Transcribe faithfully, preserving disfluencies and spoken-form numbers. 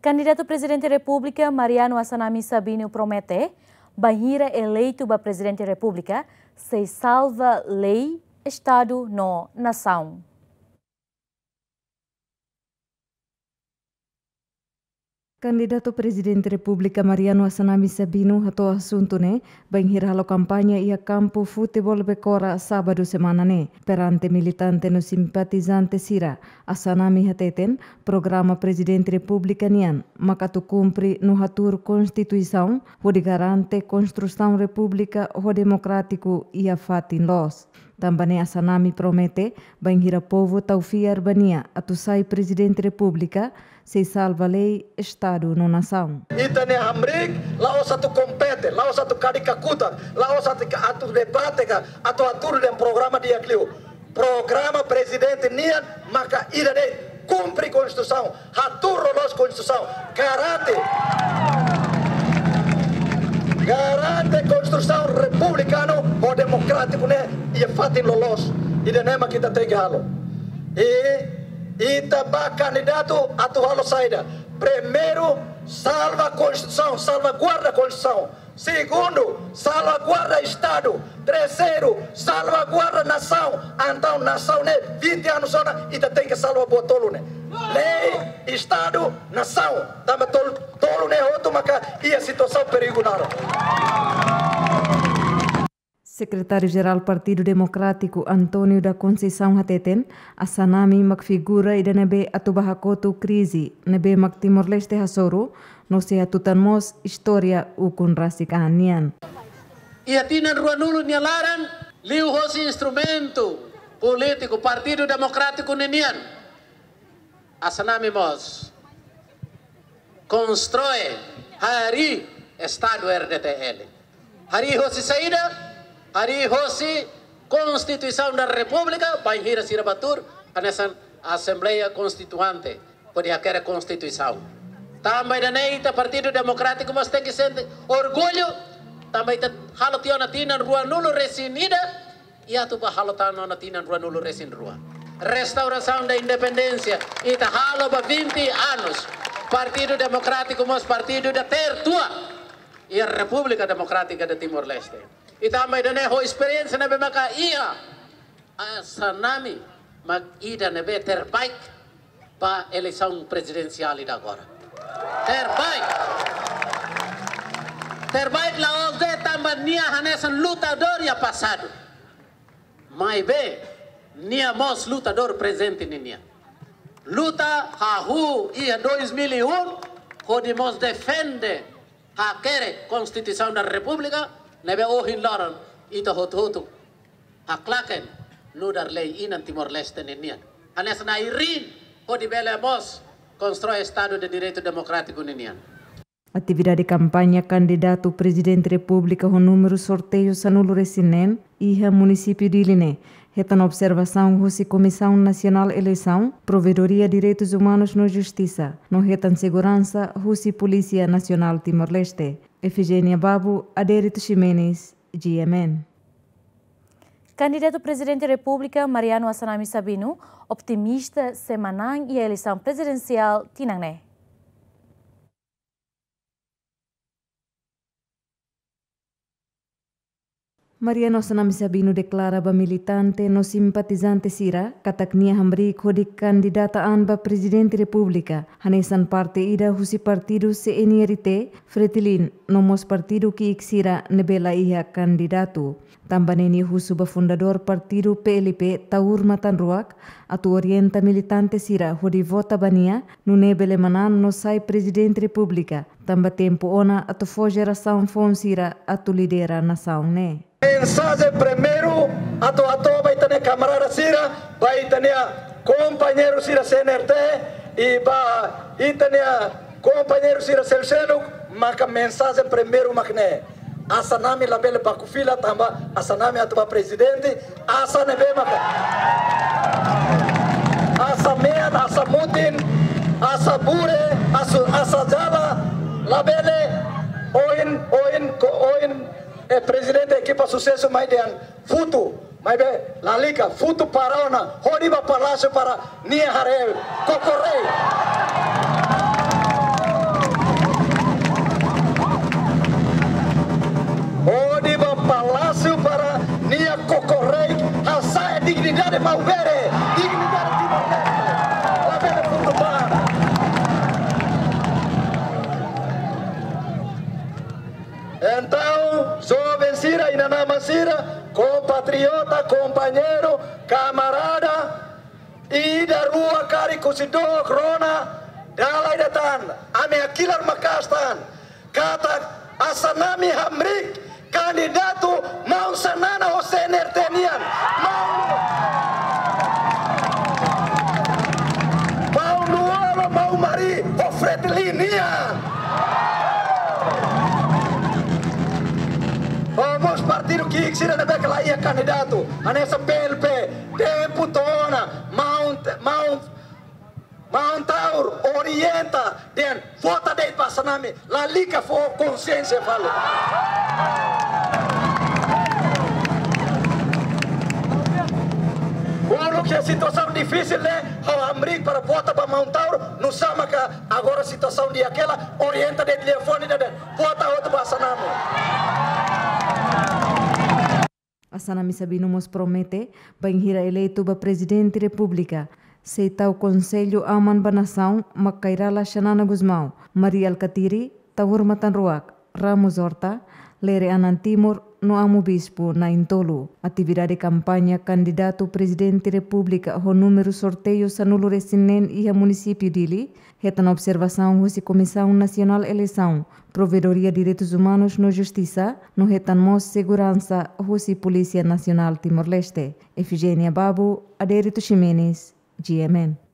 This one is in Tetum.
Kandidatu Prezidente Repúblika Mariano Assanami Sabino promete, bainhira eleitu ba Prezidente Repúblika, sei salva lei, Estadu no nasaun. Kandidatu Prezidente Repúblika Mariano Assanami Sabino hato'o asuntu ne'e bainhira halo kampaña iha kampu futeból Becora, sábadu semana ne'e. Perante militante no simpatizante sira, Assanami hateten, programa Prezidente Repúblika nian mak atu kumpre no hatuur Konstituisaun, hodi garante konstrusaun repúblika ho demokrátiku iha fatin loos. Tanba ne'e Assanami promete, bainhira povu tau fiar ba nia atu sai Prezidente Repúblika, sei salva lei, Estadu no nasaun. Ita-nia hamriik, la'ós atu kompete, la'ós atu kadi kakutak, la'ós atu, atu debate ka, atu hatuur dehan programa di'ak liu. Programa Prezidente nian maka ida de'it, kumpre Konstituisaun, hatuur loloos Konstituisaun, garante, garante konstrusaun republikanu ho demokrátiku ne'e iha fatin loloos. Ida-ne'e mak ita tenke halo. I ita ba kandidatu atu halo saida? Primeiru, salva Konstituisaun, salvaguarda Konstituisaun. Segundu, salvaguarda Estadu. Terseiru, salvaguarda nasaun. Entaun nasaun ne'e vinte anos ona, ita tenke salva buat tolu ne'e. Lei, Estadu, nasaun. Tanba tolu, tolu ne'e hotu maka iha situasaun perigu naran. Sekretáriu Jerál Partidu Demokrátiku António da Conceição hateten, Assanami mak figura ida ne'ebé atu ba hakotu krize ne'ebé mak Timor-Leste hasoru, no sei hatutan mós istória ukun rasik an nian. Iha tinan ruanulu nia laran, liuhosi instrumentu polítiku Partidu Demokrátiku ninian, Assanami mós konstroi, harii Estadu R D T L. Harii hosi saida? Harii hosi Konstituisaun da Repúblika, bainhira sira bá tuur hanesan Asembleia Konstituinte, hodi hakerek Konstituisaun. Tanba ida-ne'e ita Partidu Demokrátiku mós tenke sente orgullu, tanba ita halo tiha ona tinan ruanulu resin ida, i atu ba halo tan ona tinan ruanulu resin rua. Restaurasaun da independénsia, ita halo ba vinte anos. Partidu Demokrátiku mós partidu ida tertua iha Repúblika Demokrátika de Timor-Leste. I tanba ida-ne'e ho esperiénsia ne'ebé maka iha, Assanami mak ida ne'ebé terbaik ba eleisaun prezidensiál ida agora. Terbaik. Terbaik la'ós de'it tanba nia hanesan lutadór iha pasadu. Maibé, nia mós lutadór prezente ninian. Luta hahú iha dois mil e um, hodi mós defende hakerek Konstituisaun da Repúblika, ne'ebé ohin loron ita hotu-hotu haklaken nu'udar lei inan Timor-Leste ninian. Hanesan ai-riin hodi bele mós konstroi Estadu de Direitu Demokrátiku ninian. Atividade kampaña kandidatu Prezidente Repúblika ho númeru sorteiu sanulu resin neen iha munisípiu Dili ne'e hetan observasaun husi Komisaun Nasionál Eleisaun, Provedoria Direitus Umanus no Justisa, no hetan seguransa husi Polísia Nasionál Timor-Leste. Efigénia Babu, Adérito Ximenes, G M N. Kandidatu Prezidente Repúblika Mariano Assanami Sabino optimista sei manán iha eleisaun prezidensiál tinan ne'e. Mariano Assanami Sabino deklara ba militante no simpatizante sira katak nia hamriik hodi kandidata an ba Prezidente Repúblika, hanesan parte ida husi partidu C N R T, Fretilin, no mós partidu ki'ik sira ne'ebé la iha kandidatu. Tanba ne'e nia husu ba fundadór partidu P L P, Taur Matan Ruak, atu orienta militante sira hodi vota ba nia, nune'e bele manán no sai Prezidente Repúblika, tanba tempu ona atu fó jerasaun foun sira atu lidera nasaun ne'e. Mensajen primeiru atu hato'o ba ita-nia kamarada sira, ba ita-nia kompañeiru sira C N R T, i ba ita-nia kompañeiru sira seluk-seluk, maka mensajen primeiru mak ne'e. Assanami labele baku fila tanba Assanami atu ba prezidente, Asa ne'ebé maka. Asa mean, Asa mutin, Asa bure, Asa, Asa jala, labele, ohin, ohin, ko, ohin, eh, prezidente ekipa susesu mai dehan futu, maibé lalika, futu para ona, hodi ba palásiu para nia haree, koko rei. Espasu para nia kokoreik, hasa'e dignidade maubere, dignidade Timor-Leste. Labele fundu bana. Entaun, joven sira, inan-aman sira, kompatriota, kompañeiru, kamarada, ida, rua, karik, husi dook, rona, dala ida tan, ami hakilar maka'as tan katak Assanami hamriik kandidatu maun Xanana ho C N R T nian. Maun, maun Lú-Olo, maun Mari ho Fretilin nian. Ho mós partidu ki'ik sira ne'ebé ke la iha kandidatu, hanesan P L P, tempu to'o ona, maun, maun, maun Taur orienta dehan vota de'it ba Assanami, lalika fó konsiénsia fali. Uluk iha situasaun difisil ne'e, ha'u hamriik para vota ba maun Taur, nusá maka agora situasaun di'ak hela, orienta de'it liafuan ida dehan vota hotu ba Assanami. Assanami Sabino mós promete, bainhira eleitu ba Prezidente Repúblika, sei tau konsellu aman ba nasaun, mak Kay Rala Xanana Gusmão, Mari Alkatiri, Taur Matan Ruak, Ramos Horta, Lere Anan Timur, no Amu Bispu na'in-tolu. Atividade kampaña kandidatu Prezidente Repúblika ho númeru sorteiu sanulu-resin-neen iha munisípiu Dili, hetan observasaun husi Komisaun Nasionál Eleisaun, Provedoria Direitus Umanus no Justisa, no hetan mós seguransa husi Polísia Nasionál Timor-Leste. Efigénia Babu, Adérito Ximenes, G M N.